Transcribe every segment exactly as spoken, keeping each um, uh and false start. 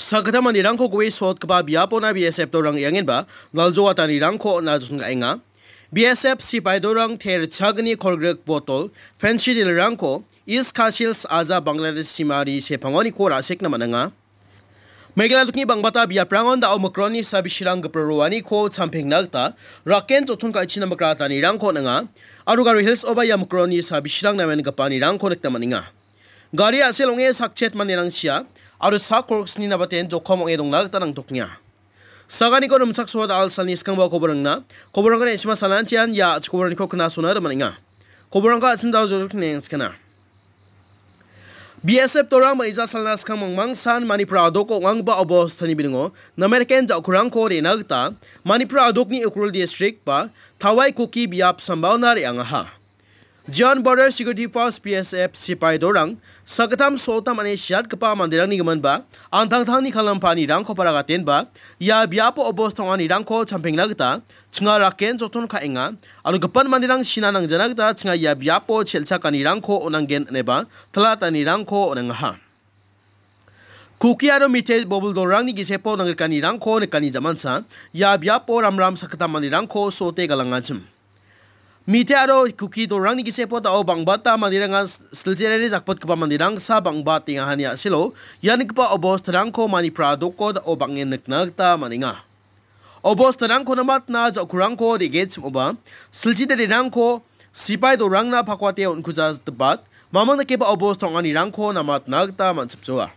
Sakgittam manderangko gue sotgipa biapona B S F dolrang re·angenba naljoatanirangko on·a joson ka·enga. B S F sipai dolrang te ritchagni kolgrik botol, pensi dilrangko East Khasi Hills aja Bangladesh simari sepangoniko ra·sekna man·enga. Meghalaya dokni bangbata biaprangon da·o mikronni sabisirang gipro roaniko champengna gita raken joton ka·china mikratanirangko on·enga. Aro Garo Hills-oba ia mikronni sabisirang namen gipanirangko nikna man·enga. Gari a·sel ong·e sakchet manderang sia aro sak kolgrisni nabaten jokom ong·e dongna gita nangtokenga. Saganiko rimchaksoa da·al salni skangba koborangna, koborangko ne·sima salantian ia a·chik koborangko knasona gita man·enga. Koborangko a·chim da·o jodok neng skana. B S F dolrang ma·ija salna skang mangmangsan Manipur a·doko ong·anggipa obostani biningo nameriken ja·kurangko re·na gita Manipur a·dokni Ukhrul distrik ba Tawai Kuki biap sambaona re·angaha. Jian Border Security Force, B S F, sipai dolrang sakgittam sottam ane siatgipa manderangni giminba antangtangni kalampanirangko paragatenba ia biapo obos tonganirangko champengna gita chinga raken joton ka·enga aro gipin manderang sina nangjana gita chinga ia biapo chelchakanirangko on·angen ineba talatanirangko on·angaha. Kuki aro Mite bobil dolrangni gisepo nangrikanirangko nikani jamansa ia biapo ramram sakgittam manderangko sote galangachim. Mite aro Kuki dolrangni gisepo da·o bangbata manderangan s-, siljerere jakpotgipa manderangsa bang·batengahani a·selo ia nikgipa obostarangko Manipur a·doko da·o bang·en nikna gita man·enga. Obostarangko namatna ja·kurangko de·gechim oba siljidererangko sipai dolrangna pakwate on·kujatgipat mamang dakeba obos tonganirangko namatna gita man·chipjoa.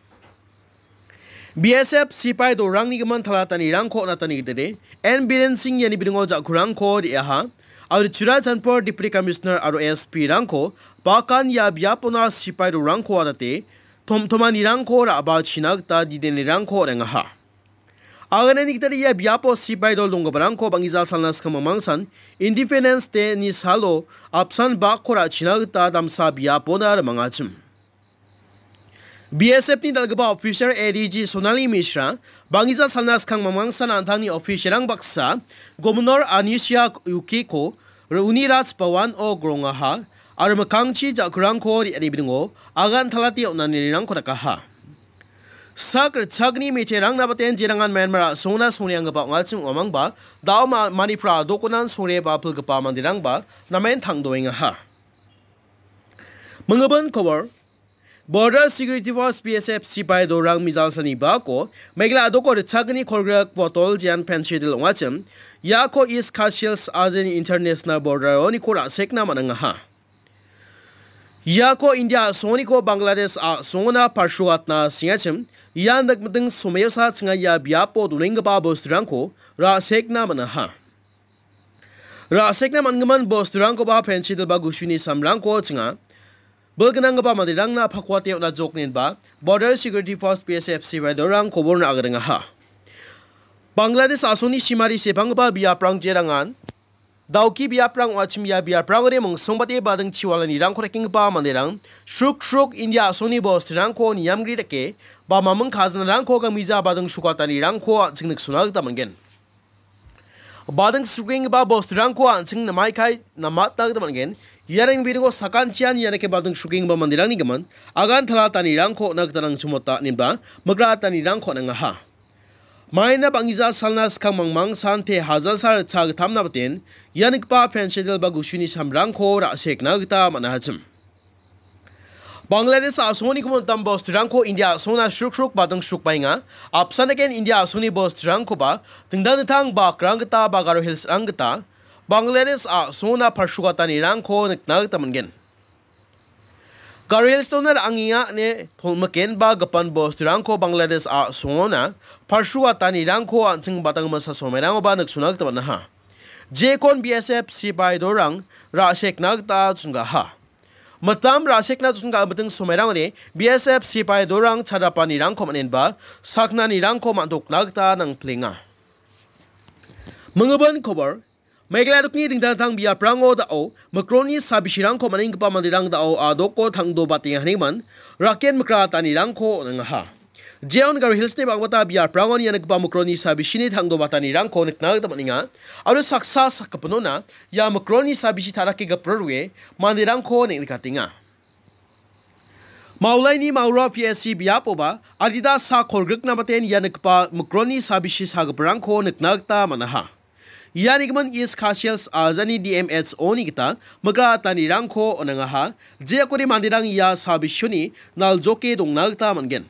B S F sipai dolrangni gimin talatanirangko on·atani gitade N Biren Singh iani biningo ja·kurangko re·aha. Aro Churachandpur Deputy Commissioner aro S P-rangko bakan ia biapona sipai dolrangko on·ate tomtomanirangko ra·bachina gita didenirangko on·engaha. Aganani gita ia biapo sipai dol donggiparangko bang·gija salna skang mangmangsan Independence Day-ni salo apsan bakko ra·china gita damsa biapona rimangachim. B S F-ni dal·gipa officer A D G Sonali Mishra, bang·gija salna skang mangmangsan an·tangni officer-rang baksa, Governor Anisha Yukiko, Uniraj Bhawan-o grongaha, aro mikkangchi ja·kurangko re·ani biningo agan talate on·anirangko dakaha. Sak ritchagni miterangna baten jerangan Myanmar a·songna songreanggipa ong·achim ong·amangba, da·o ma-, Manipur a·dokonan songre ba pilgipa manderangba namen tangdoengaha. Mingibin kobor, Border Security Force, B S F, sipai dolrang mijalsani bako Meghalaya a·doko ritchagni kolgrik botol jean pensidil ong·achim, iako East Khasi Hills Azin International Border-oniko ra·sekna man·angaha. Iako India a·songoniko Bangladesh a·songona parsuatna sengachim, ia nikmiting someosa chinga ia biapo donenggipa bosturangko ra·sekna man·aha. Ra·sekna man·gimin bosturangkoba pensidil ba gusuni samrangko chinga bilgnanggipa manderangna pakwate on·a joknenba Border Security Force, B S F, sipai dolrang koborna agringaha. Bangladesh a·songni simari sepanggipa biaprang jerangan Dauki biaprang ong·achim ia biaprangode mongsongbate bading chiwalanirangko rekenggipa manderang sruk sruk India a·songni bosturangko niamgri dake ba maming kajanarangko gamija bading sukatanirangko an·ching niksona gita man·gen. Bading sukenggipa bosturangko an·ching namaikai namatna gita man·gen. Iarang biringo sakantian ianake bading sukenggipa manderangni gimin agan talatanirangko on·a gita nangchimota inenba migratanirangko on·angaha. Maina bang·gija salna skang mangmang sante hajalsa ritcha gittamna baten ia nikgipa pensidil ba gusuni samrangko ra·sekna gita man·ahachim. Bangladesh a·songoni gimin dam bosturangko India a·songna sruk sruk bading srukbaenga. Apsan eken India a·songni bosturangkoba dingtang dingtang bakrang gita ba Garo Hills-rang gita Bangladesh a·songna parsugatanirangko nikna gita man·gen. Garo Hills-ona ra·angenga ine tolmikenba gipan bosturangko Bangladesh a·songona parsugatanirangko an·ching badang masa somerangoba niksona gita man·aha. Jekon B S F sipai dolrang ra·sekna gita chongaha. Mitam ra·sekna chonga miting somerangode B S F sipai dolrang chadapanirangko man·enba saknanirangko man·tokna gita nangplenga. Mingibin kobor, Meghalaya dokni dingtang dingtang biaprango da·o mikronni sabisirangko man·enggipa manderang da·o a·doko tangdobatenga hanigimin raken mikratanirangko on·angaha. Jeon Garo Hills-ni bang·bata biaprangon ia nikgipa mikronni sabisini tangdobatanirangko nikna gita man·enga. Aro saksa sakgipinona ia mikronni sabisi ta·rake gipro rue manderangko neng·nikatenga. Maulaini Maura P S C biapoba adita sak kolgrikna baten ia nikgipa mikronni sabisi sagiparangko nikna gita man·aha. Ia nigimin East Khasi Hills ajani D M H O-ni gita migra atanirangko on·angaha, jeakode manderang ia sabisioni naljoke dongna gita man·gen.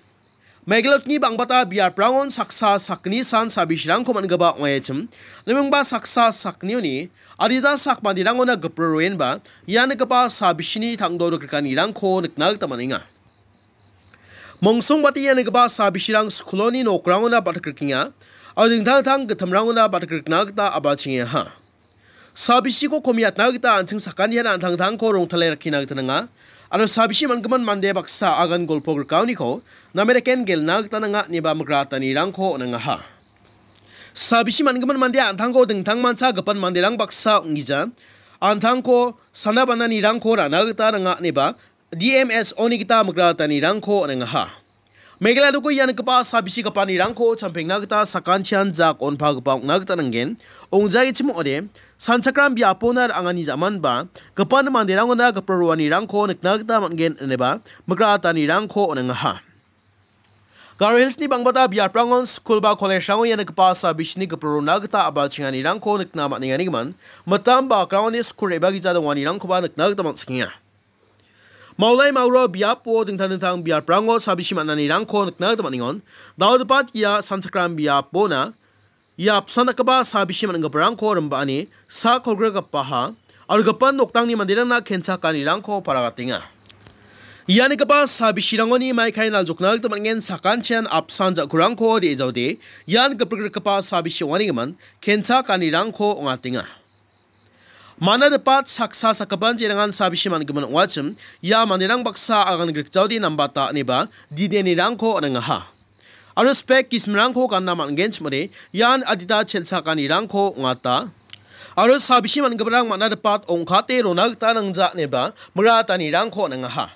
Meghalaya-ni bangbata biaprangon saksa sakgni san sabisirangko man·gipa ong·achim, namingba saksa sakgnioni adita sak manderangona gipro roenba ia nikgipa sabisini tangdo rikrikanirangko nikna gita man·enga. Mongsongbate ia nikgipa sabisirang skuloni nokrangona batikrikenga, aro dingtang dingtang gitimrangona batikrikna gita a·bachengaha. Sabisiko komiatna gita an·ching sakantian an·tangtangko rongtale rakkina gita nanga, aro sabisi man·gimin mande baksa agan golpo grikaoniko name daken gelna gita nanga ineba migra atanirangko on·angaha. Sabisi man·gimin mande an·tangko dingtangmancha gipan manderang baksa ong·gija, an·tangko sana bananirangko ra·na gita nanga ineba D M H O-ni gita migra atanirangko on·angaha. Meghalaya doko ia nikgipa sabisi gipanirangko champengna gita sakantian jak on·pagipa ong·na gita nanggen. Ong·jaichim ong·ode, sanchakram biapona ra·angani ja·manba gipan manderangona gipro roanirangko nikna gita man·gen ineba migra atanirangko on·angaha. Garo Hills-ni bangbata biaprangon skul ba college-rango ia nikgipa sabisini gipro rona gita a·bachenganirangko nikna man·enganigimin, mitam ba akrangoni skul re·bagija donganirangkoba nikna gita man·sikenga. Maulai Maura biapo dingtang dingtang biaprango sabisi man·anirangko nikna gita man·engon. Daodipat ia sanchakram biapona ia apsan dakgipa sabisi man·giparangko rimba·ani sak kolgrigipaha aro gipan noktangni manderangna kenchakanirangko paragatenga. Ia nikgipa sabisirangoni maikai naljokna gita man·gen, sakantian apsan ja·kurangko de·e jaode ian giprikrikgipa sabisi ong·anigimin kenchakanirangko ong·atenga. Manadipat saksa sakgipan jerangan sabisi man·gimin ong·achim, ia manderang baksa agan grikjaode nambata ineba didenirangko on·angaha. Aro spek gisimrangko ganna man·genchim ong·ode, ian adita chelchakanirangko ong·ata. Aro sabisi man·giparang manadipat ong·kate rona gita nangja ineba migra atanirangko on·angaha.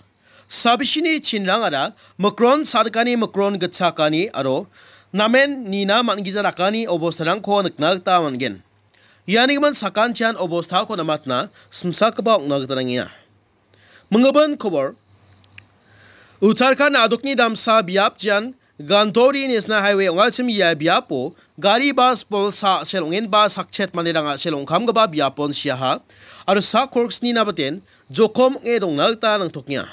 Sabisini chinrangara mikron sa·dikani, mikron gitchakani aro namen nina man·gija dakani obostarangko nikna gita man·gen. Ianigimin sakantian obostako namatna simsakgipa ong·na gita nangenga. Minggimin kobor. Uttarakhand adokni damsa biap jean Gantori National Highway ong·achim ia biapo gari bas bolsa a·sel ong·enba sakchet manderang a·sel ong·kamgipa biapon siaha aro sak kolgrisni nabaten jokom ong·e dongna gita nangtokenga.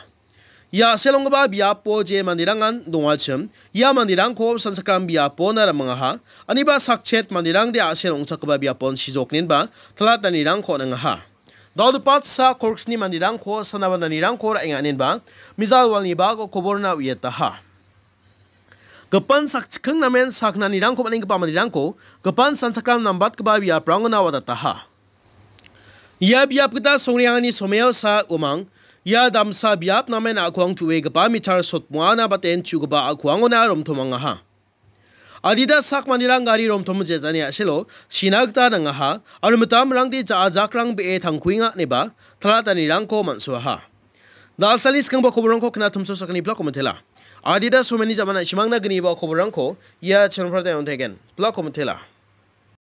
Ia a·sel ong·gipa biapo je manderangan dongachim, ia manderangko sanchakram biapona ramangaha, aniba sakchet manderangde a·sel ong·chakgipa biapon sijoknenba talatnanirangko on·angaha. Dal·gipa sa kolgrisni manderangko sanabananirangko ra·enga inenba mijal walni bako koborna uiataha. Gipan sakchikking namen saknanirangko man·enggipa manderangko gipan sanchakram nambatgipa biaprangona wadataha. Ia biap gita songreangani someo sa umang, ia damsa biap namen a·kuang tu·egipa mitar sotmoana baten chu·gipa a·kuangona romtomangaha. Adita sak manderang gari romtom jetani a·selo sina gita nangaha, aro mitamrangde ja·a jakrang be·e tangkuenga ineba talatanirangko man·soaha. Dalsalni skangba koborangko knatumso sakani plako mitela. Adita someni jamana chimangna gniba koborangko ia channel-rangde on·taigen. Plako mitela.